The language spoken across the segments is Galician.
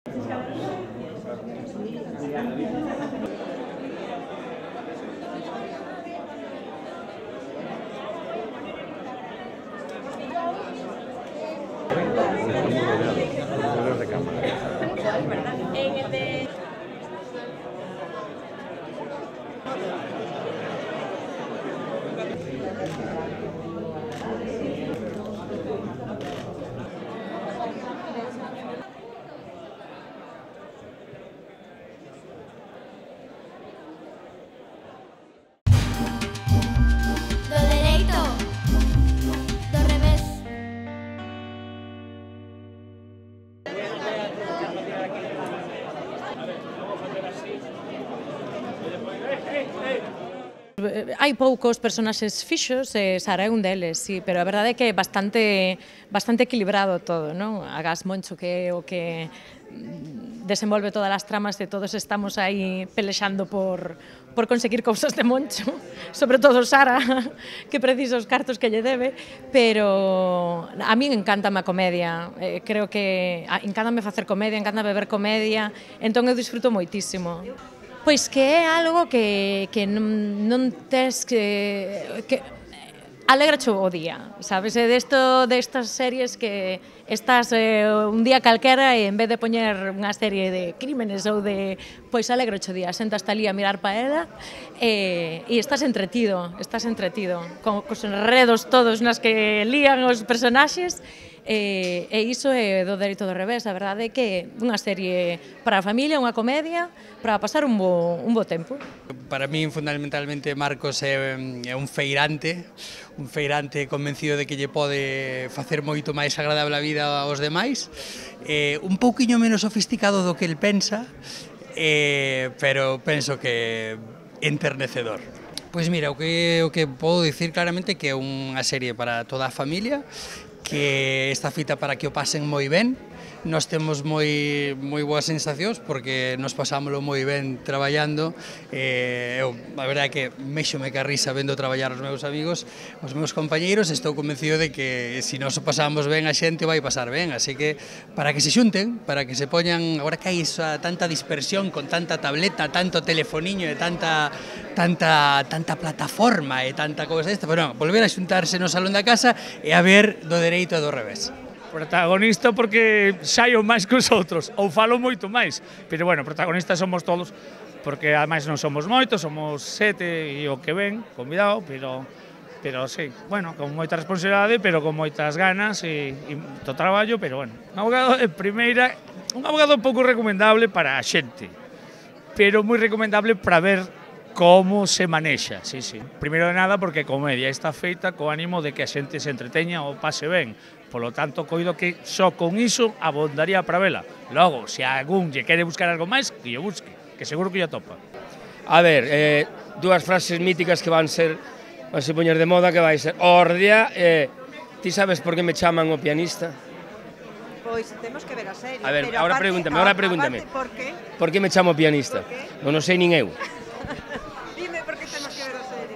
Do dereito, do revés. Hai poucos personaxes fixos e Sara é un deles, sí, pero a verdade é que é bastante equilibrado todo, non? Agás Moncho, que é o que desenvolve todas as tramas e todos estamos aí pelexando por conseguir cousas de Moncho, sobre todo Sara, que precisa os cartos que lle debe, pero a min encántame a comedia, creo que encántame facer comedia, encántame ver comedia, entón eu disfruto moitísimo. Pois que é algo que non tes que alegrache o día, sabes? É destas series que estás un día calquera e en vez de poñer unha serie de crímenes ou de... Pois alegrache o día, sentas ali a mirar pa ela e estás entretido, cos enredos todos nas que lían os personaxes. E iso é do dereito do revés, a verdade é que é unha serie para a familia, unha comedia, para pasar un bo tempo. Para min, fundamentalmente, Marcos é un feirante convencido de que lle pode facer moito máis agradable a vida aos demais, un pouquiño menos sofisticado do que el pensa, pero penso que enternecedor. Pois mira, o que podo dicir claramente que é unha serie para toda a familia, que está fita para que o pasen moi ben. Nós temos moi boas sensacións porque nos pasámoslo moi ben traballando. Eu, a verdade é que méxome que a risa vendo traballar os meus amigos, os meus compañeiros, estou convencido de que se nos o pasamos ben a xente vai pasar ben, así que para que se xunten, para que se poñan, agora que hai tanta dispersión con tanta tableta, tanto telefoniño e tanta plataforma e tanta cousa esta, pero non, volver a xuntarse no salón da casa e a ver do dereito e do revés. Protagonista porque saio máis que os outros, ou falo moito máis, pero bueno, protagonistas somos todos, porque ademais non somos moitos, somos 7 e o que ven, convidado, pero sí, bueno, con moita responsabilidade, pero con moitas ganas e to traballo, pero bueno, un abogado de primeira, un abogado pouco recomendable para a xente, pero moi recomendable para ver como se manexa, sí. Primeiro de nada porque a comedia está feita co ánimo de que a xente se entreteña ou pase ben. Polo tanto, coido que só con iso abondaría para vela. Logo, se algún lle quere buscar algo máis, que lle busque, que seguro que lle topa. A ver, dúas frases míticas que van se poñer de moda, que vai ser Ordia, ti sabes por que me chaman o pianista? Pois temos que ver a serie. A ver, pero ahora pregúntame. Por que? Por que me chamo pianista? Non o sei nin eu. Dime por que temos que ver a serie.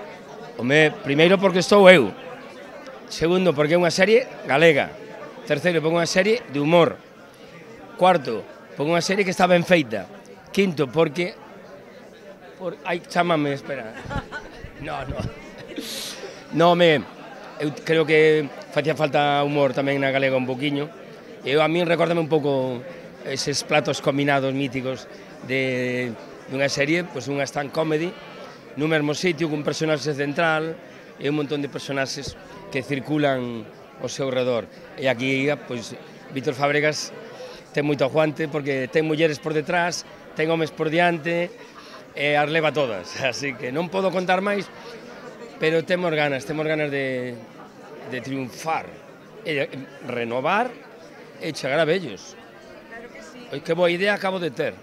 Home, primeiro porque estou eu. Segundo, porque é unha serie galega. Terceiro, porque é unha serie de humor. Cuarto, porque é unha serie que está ben feita. Quinto, porque... Ai, chámame, espera. No, eu creo que facía falta humor tamén na galega un poquinho. E a min recórdame un pouco eses platos combinados míticos de unha serie, pois unha stand comedy, nun mesmo sitio, cun personaxe central e un montón de personaxes que circulan ao seu redor. E aquí, pois, Víctor Fábregas ten moito aguante porque ten mulleres por detrás, ten homes por diante e as leva todas. Así que non podo contar máis, pero temos ganas de triunfar, e de renovar e chegar a vellos. Que boa idea acabo de ter.